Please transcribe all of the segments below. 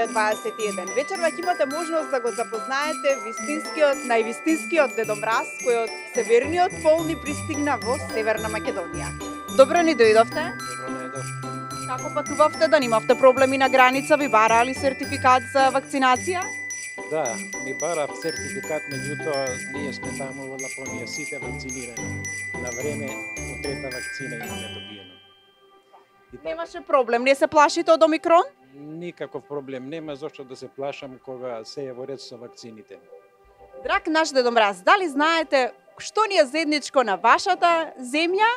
2021. Вечерва ќе имате можност да го запознаете највистинскиот Дедо Мраз, кој од северниот пол ни пристигна во Северна Македонија. Добро ни дојдовте. Добро најдов. Како патувавте, да немавте проблеми на граница, ви бараа ли сертификат за вакцинација? Да, ми бара сертификат, меѓутоа ние сме таму во Лапонија сите вакцинирани. На време по трета вакцина имаме добиено. Немаше проблем, не се плашите од омикрон? Никаков проблем нема зошто да се плашам кога се е во ред со вакцините. Драг наш Дедо Мраз, дали знаете што ни е заедничко на вашата земја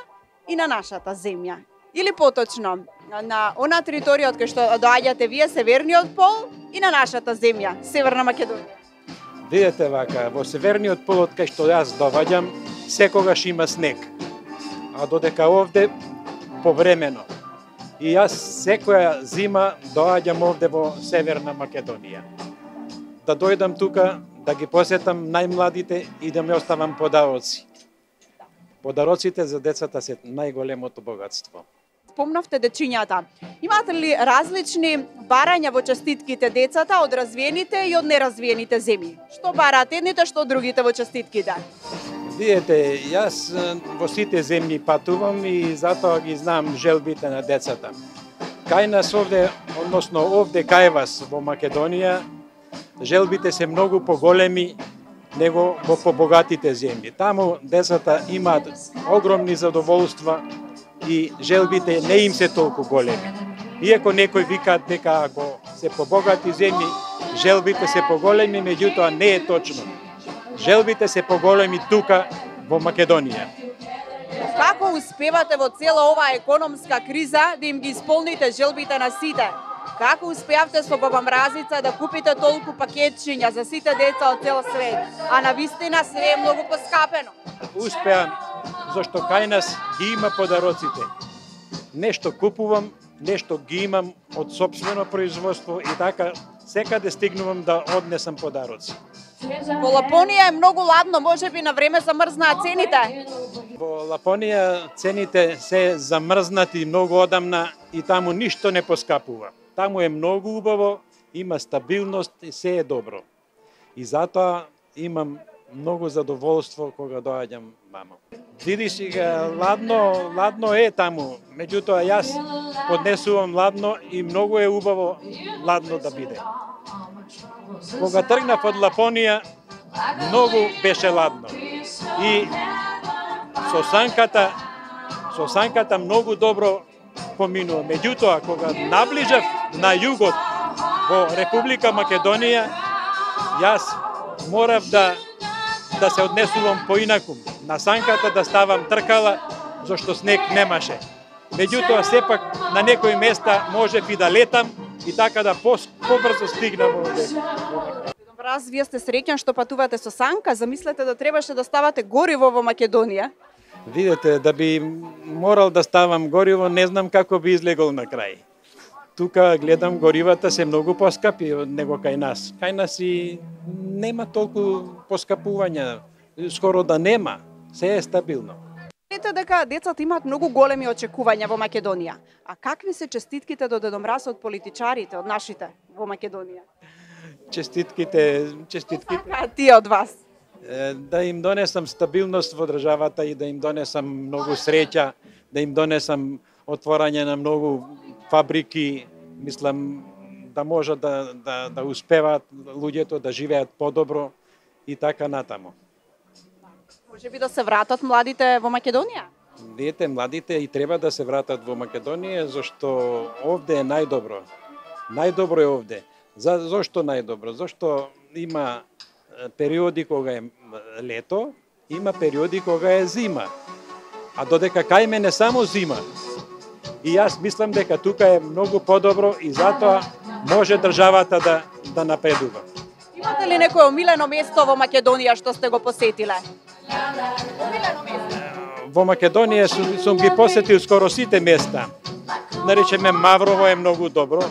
и на нашата земја? Или поточно, на она територија од кај што доаѓате вие, Северниот пол, и на нашата земја, Северна Македонија? Видете вака, во Северниот пол од кај што јас доаѓам, секогаш има снег. А додека овде повремено. И јас секоја зима доаѓам овде во Северна Македонија. Да дојдам тука, да ги посетам најмладите и да ми оставам подароци. Подароците за децата се најголемото богатство. Спомнавте дечињата. Имате ли различни барања во честитките децата од развиените и од неразвиените земји? Што бараат едните, што другите во честитките? Видете, јас во сите земји патувам и затоа ги знам желбите на децата. Кај нас овде, односно овде кај вас во Македонија, желбите се многу поголеми него во побогатите земји. Таму децата имаат огромни задоволства и желбите не им се толку големи. Иако некои викаат дека ако се побогати земји, желбите се поголеми, меѓутоа не е точно. Желбите се поголеми тука во Македонија. Како успевате во цела оваа економска криза да им ги исполните желбите на сите? Како успеавте со Баба Мразица да купите толку пакетчиња за сите деца од цел свет, а на вистина све е многу поскапено? Успеам, зашто кај нас ги има подароците. Нешто купувам, нешто ги имам од сопствено производство и така секаде стигнувам да однесам подароци. Во Лапонија е многу ладно, можеби на време замрзнаа цените? Во Лапонија цените се замрзнати многу одамна и таму ништо не поскапува. Таму е многу убаво, има стабилност и се е добро. И затоа имам многу задоволство кога доаѓам мамо. Види сега, ладно е таму, меѓутоа јас поднесувам ладно и многу е убаво ладно да биде. Кога тргнав од Лапонија, многу беше ладно. И со санката многу добро поминува. Меѓутоа, кога наближав на југот во Република Македонија, јас морав да се однесувам поинаку. На санката да ставам тркала, зашто снег немаше. Меѓутоа, сепак на некои места можев и да летам и така да побрзо стигнам овде. Мраз, вие сте среќен што патувате со санка, замислете да требаше да ставате гориво во Македонија? Видете, да би морал да ставам гориво, не знам како би излегол на крај. Тука гледам горивата се многу поскапи од него кај нас. Кај нас и нема толку поскапувања, скоро да нема, се е стабилно. Знаете дека децата имаат многу големи очекувања во Македонија. А какви се честитките до Дедо Мраз од политичарите, од нашите во Македонија? Честитките. А тие од вас? Да им донесам стабилност во државата и да им донесам многу среќа, да им донесам отворање на многу фабрики, мислам да можат да успеваат луѓето да живеат подобро и така натаму. Може би да се вратат младите во Македонија? Видите, младите и треба да се вратат во Македонија, зашто овде е најдобро. Најдобро е овде. Зошто најдобро? Зошто има периоди кога е лето, има периоди кога е зима. А додека кај мене само зима. И јас мислам дека тука е многу подобро и затоа може државата да напредува. Имате ли некое омилено место во Македонија што сте го посетиле? Во Македонија сум ги посетил скоро сите места. Наречеме Маврово е многу добро.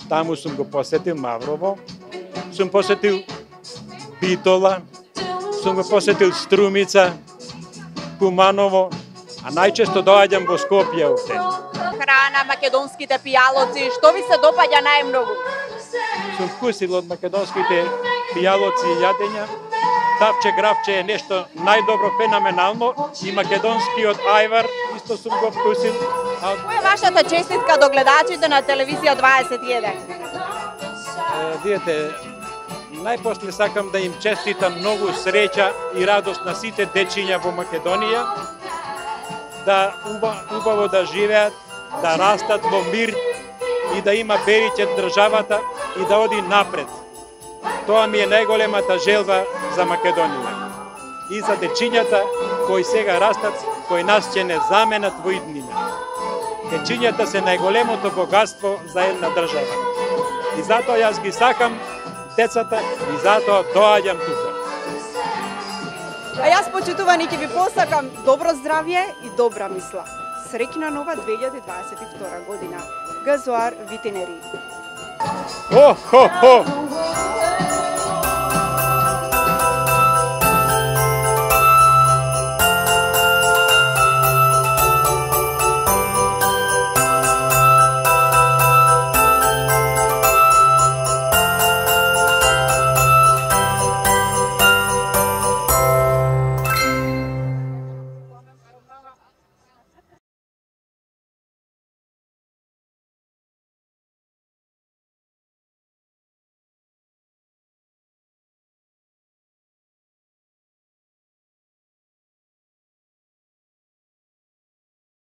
Таму сум го посетил Маврово. Сум посетил Битола, сум го посетил Струмица, Куманово, а најчесто доаѓам во Скопје овде. Храна, македонските пијалоци, што ви се допаѓа најмногу? сум вкусил од македонските пијалоци и јадења. Тавче гравче е нешто најдобро, феноменално, и македонскиот ајвар исто сум го вкусил. Која е вашата честитка до гледачите на телевизија 21? Видете, најпосле сакам да им честитам многу среќа и радост на сите дечиња во Македонија, да убаво да живеат, да растат во мир и да има бериќе државата и да оди напред. Тоа ми е најголемата желба за Македонија. И за дечињата кои сега растат, кои нас ќе не заменат во иднина. Дечињата се најголемото богатство за една држава. И затоа јас ги сакам децата и затоа доаѓам тука. А јас, почитувани, ќе ви посакам добро здравје и добра мисла. Среќна нова 2022 година. Газоар Витинери. Хо, хо, хо!